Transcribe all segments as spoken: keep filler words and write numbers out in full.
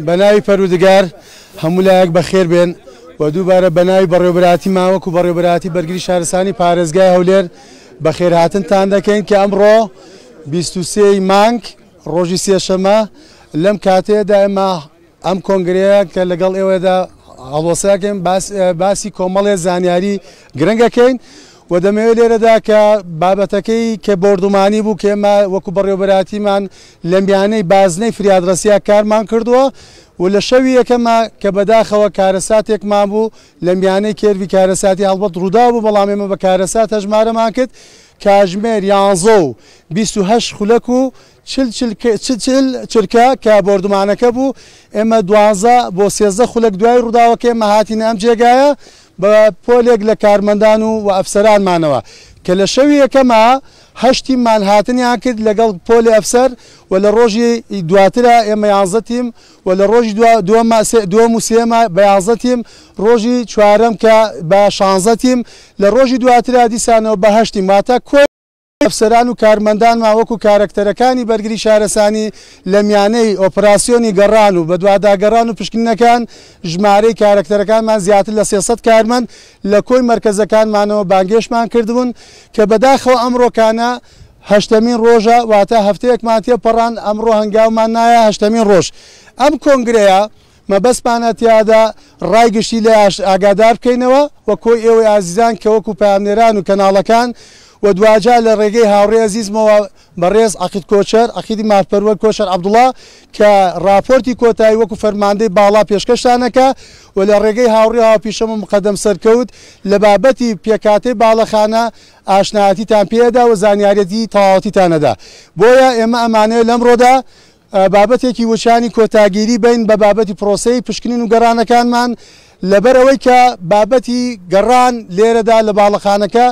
بەناوی پەروەردگار هەموو لایەک بەخێر بێن و دووبارە بەناوی بەڕێوەبەرایەتی ماوەک و بەڕێوەبەرایەتی بەرگری شارستانی پارێزگای هەولێر بەخێرهاتنتان دەکەین کە ئەمڕۆ بیست و سێ مانگ ڕۆژی سێشەمە لەم کاتەیەدا ئێمە ئەم کۆنگرەیە کە لەگەڵ ئێوەدا هەڵوەساکەین باسی کۆمەڵێ زانیاری گرنگەکەین و دەمەوێت لێرەدا کە بابەتەکەی کە بۆردومانی بوو کە ئێمە وەکو بەڕێوەبەرایەتیمان لە میانەی بازنەی فریادڕەسیا کارمان کردووە و لە شەوی یەکەمە کە بەداخەوە کارەساتێکمان بوو لە میانەی کێرڤی کارەساتی هەڵبەت ڕوودا بوو، بەڵام ئێمە بە کارەسات هەژمارەمان کرد کاژمێر یانزە و بیست و هەشت خولەک و چل چل چرکە کە بۆردومانەکە بوو. ئێمە دوازە بۆ سێزدە خولەک دوای ڕووداوەکە ئێمە هاتینە ئەم جێگایە بە پۆلێک لە کارمەندان و ئەفسەرانمانەوە کە لە شەوی یەکەمە هەشت تیممان هاتنیان کرد لەگەڵ پۆلی ئەفسەر و لە ڕۆژی دواترە ئێمە یانزە تیم و لە ڕۆژی دووەم و سێمە بە یانزە تیم، ڕۆژی چوارەم کە بە شانزە تیم، لە ڕۆژی دواترە دیسانەوە بە هەشت تیم. واتە کۆی ئەفسەران و کارمەندانمان وەکو کارەکتەرەکانی بەرگری شارستانی لە میانەی ئۆپراسیۆنی گەڕان و بەدواداگەڕان و پشکنینەکان ژمارەی کارەکتەرەکانمان زیاتر لە سێسەد کارمەند لە کۆی مەرکەزەکانمانەوە بانگێشمان کردبوون کە بەداخەوە ئەمڕۆکانە هەشتەمین ڕۆژە، واتە هەفتەیەکمان تێپەڕان ئەمڕۆ هەنگاومان نایە هەشتەمین ڕۆژ. ئەم کۆنگرەیە مەبەستمانە تیادا ڕای گشتی لێ ئاگادار بکەینەوە و کۆی ئێوەی ئازیزان کە وەکو پەیامنێران و کەناڵەکان و دواجار لە ڕێگەی هاوڕێ ئەزیزمەوە بەڕێز عەقید کۆچەر، عەقیدی مافپەروەر کۆچەر عەبدوڵڵا کە راپۆرتی کۆتایی وەکو فەرماندەی باڵا پێشکەشتانەکە و لە ڕێگەی هاوڕێ هاوپیشەم و مقەدەم سەرکەوت لە بابەتی پێکاتەی باڵەخانە ئاشنایەتیتان پێدا و زانیاریەتی تەواوەتیتانەدا. بۆیە ئێمە ئەمانەیە لەمڕۆدا بابەتێکی وچانی کۆتاگیری بین بە بابەتی پرۆسەی پشکنین و گەڕانەکانمان، لەبەرەوەی کە بابەتی گەڕان لێرەدا لە باڵەخانەکە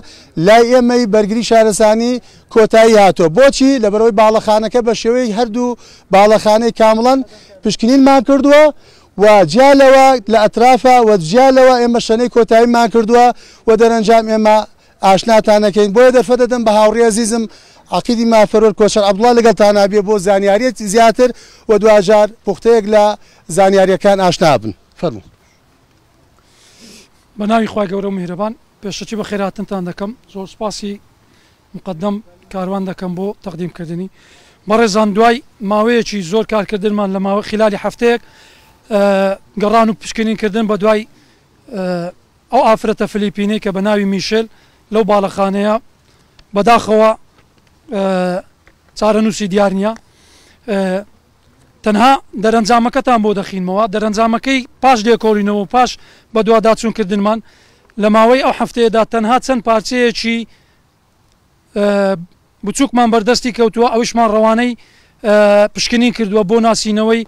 لای ئێمەی بەرگری شارستانی کۆتایی هاتووە. بۆچی؟ لەبەرەوەی باڵەخانەکە بە شێوەی هەردوو باڵەخانەی کامڵەن پشکنینمان کردووە و جیا لەوە لە ئەترافە و جیا لەوە ئێمە شەنەی کۆتاییمان کردووە و دەرەنجام ئێمە ئاشناتانەکەین. بۆیە دەرفەت دەدەم بە هاوڕێ ئەزیزم عەقیدی مافپەروەر کۆچەر عەبدوڵڵا لەگەڵتانا بێ بۆ زانیاریەت زیاتر و دواجار پوختەیەک لە زانیاریەکان ئاشنا بن. فەرموو. بە ناوی خوای گەورە و میهرەبان پێشەکی بە خێرهاتنتان دەکەم. زۆر سوپاسی مقەدەم کاروان دەکەم بۆ تەقدیمکردنی. بەڕێزان دوای ماوەیەکی زۆر کارکردنمان لە ماوە خلالی هەفتەیەک گەڕان و پشکنینکردن بە دوای ئەو ئافرەتە فلیپینەی کە بە ناوی میشێل لەو باڵەخانەیە بەداخەوە چارەنووسی دیار نییە. تەنها دەرەنجامەکەتان بۆ دەخینمەوە. دەرەنجامەکەی پاش لێکۆڵینەوە و پاش بەدواداچوونکردنمان لە ماوەی ئەو هەفتەیەدا تەنها چەند پارچەیەکی بچووکمان بەردەستی کەوتووە، ئەویشمان ڕەوانەی پشکنین کردووە بۆ ناسینەوەی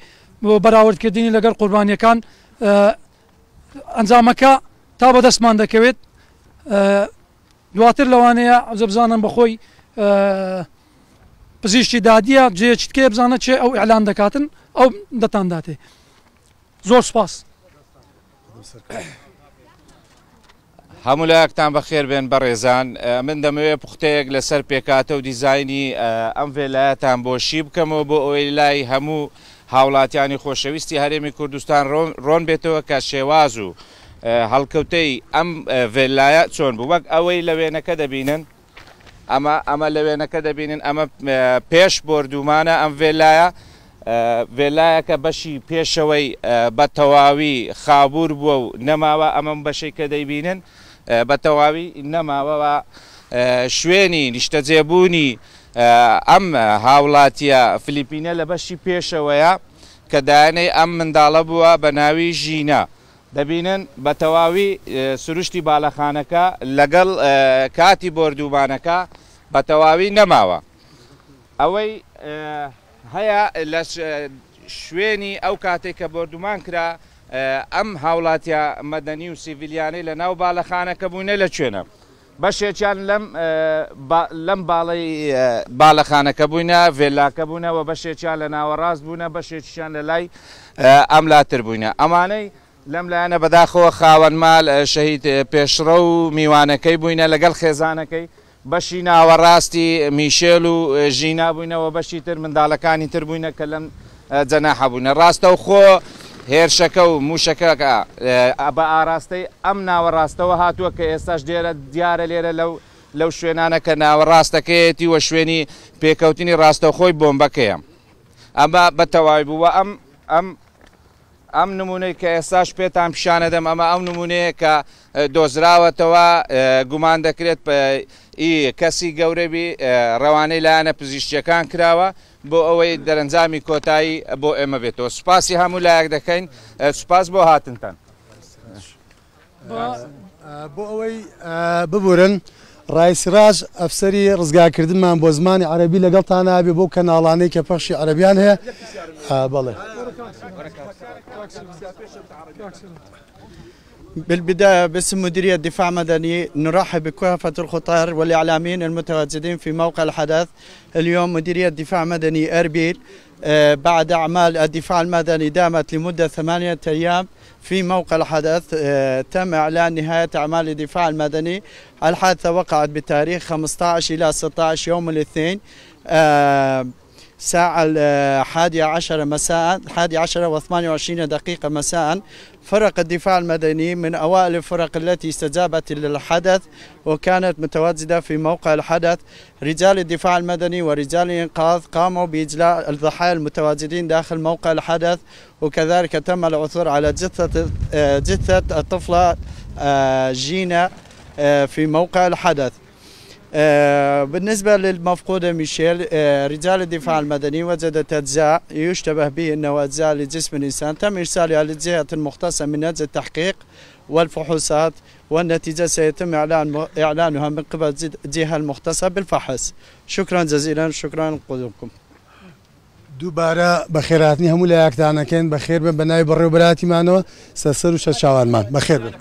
بەراوردکردنی لەگەڵ قوربانیەکان. ئەنجامەکە تا بەدەستمان دەکەوێت. دواتر لەوانەیە عەجەب بزانن بەخۆی پزیشکی دادیە جێیەکی تکەیە بزانە چێ ئەو ئیعلان دەکاتن ئەو دەتانداتێ. زۆر سوپاس. هەموو لایەکتان بەخێر بێن بەڕێزان. من دەمەوێت پوختەیەک لەسەر پێکاتە و دیزایانی ئەم ڤێلایەتان بۆ شی بکەمەوە بۆ ئەوەی لای هەموو هاوڵاتیانی خۆشەویستی هەرێمی کوردستان ڕۆن بێتەوە کە شێواز و هەڵکەوتەی ئەم ڤێلایە چۆن بوو. وەک ئەوەی لە وێنەکە دەبینن، ئەمە ئەمە لە وێنەکە دەبینن، ئەمە پێش بۆردومانە ئەم ڤێلایە. ڤێلایەکە بەشی پێشەوەی بە تەواوی خابوور بووە و نەماوە. ئەمەم بەشەی کە دەیبینن بە تەواوی نەماوە و شوێنی نیشتەجێبوونی ئەم هاوڵاتیە فلیپینە لە بەشی پێشەوەیە کە دایانەی ئەم منداڵە بووە بە ناوی ژینا. دەبینن بە تەواوی سروشتی باڵەخانەکە لەگەڵ کاتی بۆردومانەکە بە تەواوی نەماوە. ئەوەی هەیە لە شوێنی ئەو کاتێک کە بۆردومان کرا ئەم هاوڵاتیە مەدەنی و سیڤیلیانەی لە ناو باڵەخانەکە بوونە لە کوێنە، بەشێکیان لەم لەم باڵەی باڵەخانەکە بووینە، ڤێلاکە بوونە و بەشێکیان لە ناوەڕاست بوونە، بەشێکیان لە لای ئەم لاتر بووینە. ئەمانەی لەم لایەنە بەداخەوە خاوەن مال شەهید پێشڕە و میوانەکەی بووینە لەگەڵ خێزانەکەی، بەشی ناوەڕاستی میشێل و ژینا بووینەوە، بەشی تر منداڵەکانی تر بووینە کە لەم جەناحە بوونە. ڕاستەوخۆ هێرشەکە و موشەکەکە بە ئاراستەی ئەم ناوەڕاستەوە هاتووە کە ئێستاش لێرە دیارە لێرە لەو لەو شوێنانە کە ناوەڕاستەکەیەتی و شوێنی پێکەوتنی ڕاستەوخۆی بۆمبەکەیە. ئەمە بە تەواوی بووە. ئەم ئەم ئەم نمونەی کە ئێستاش پێتان پیشانەدەم ئەمە ئەو نمونەیە کە دۆزراوەتەوە، گومان دەکرێت کەسی گەورەبی ڕەوانەی لایەنە پزیشکیەکان کراوە بۆ ئەوەی دەرەنجامی کۆتایی بۆ ئێمە بێتەوە. سوپاسی هەموو لایەک دەکەین، سوپاس بۆ هاتنتان. بۆ ئەوەی ببورن ڕایسراج ئەفسەری ڕزگارکردنمان بۆ زمانی عەرەبی لەگەڵتان نابێ بۆ کەناڵانەی کە پەخشی عەرەبیان هەیە. بەڵێ. بالبداية باسم مديرية دفاع مدني نرحب بكافة الخطار والإعلاميين المتواجدين في موقع الحدث. اليوم مديرية دفاع مدني أربيل بعد أعمال الدفاع المدني دامت لمدة ثمانية أيام في موقع الحدث تم إعلان نهاية أعمال الدفاع المدني. الحادثة وقعت بتاريخ خمسة عشر إلى ستة عشر يوم الاثنين ساعة الحادية عشر مساء، الحادية عشر وثمانية وعشرين دقيقة مساء. فرق الدفاع المدني من أوائل الفرق التي استجابت للحدث وكانت متواجدة في موقع الحدث. رجال الدفاع المدني ورجال الإنقاذ قاموا بإجلاء الضحايا المتواجدين داخل موقع الحدث، وكذلك تم العثور على جثة جثة الطفلة جينا في موقع الحدث. بالنسبة للمفقودة ميشيل، رجال الدفاع المدني وجدت أجزاء يشتبه به أنه أجزاء لجسم الإنسان، تم إرسالها للجهة المختصة من أجل التحقيق والفحوصات، والنتيجة سيتم إعلان إعلانها من قبل الجهة المختصة بالفحص. شكرا جزيلا، شكرا لقدومكم. دووبارە بەخێرهاتنی هەموو لایەکتانەکەین. بەخێر بن بە ناوی بەڕێوەبەرایەتیمانەوە سەرسەر و سەرچاوانمان. بەخێر بن.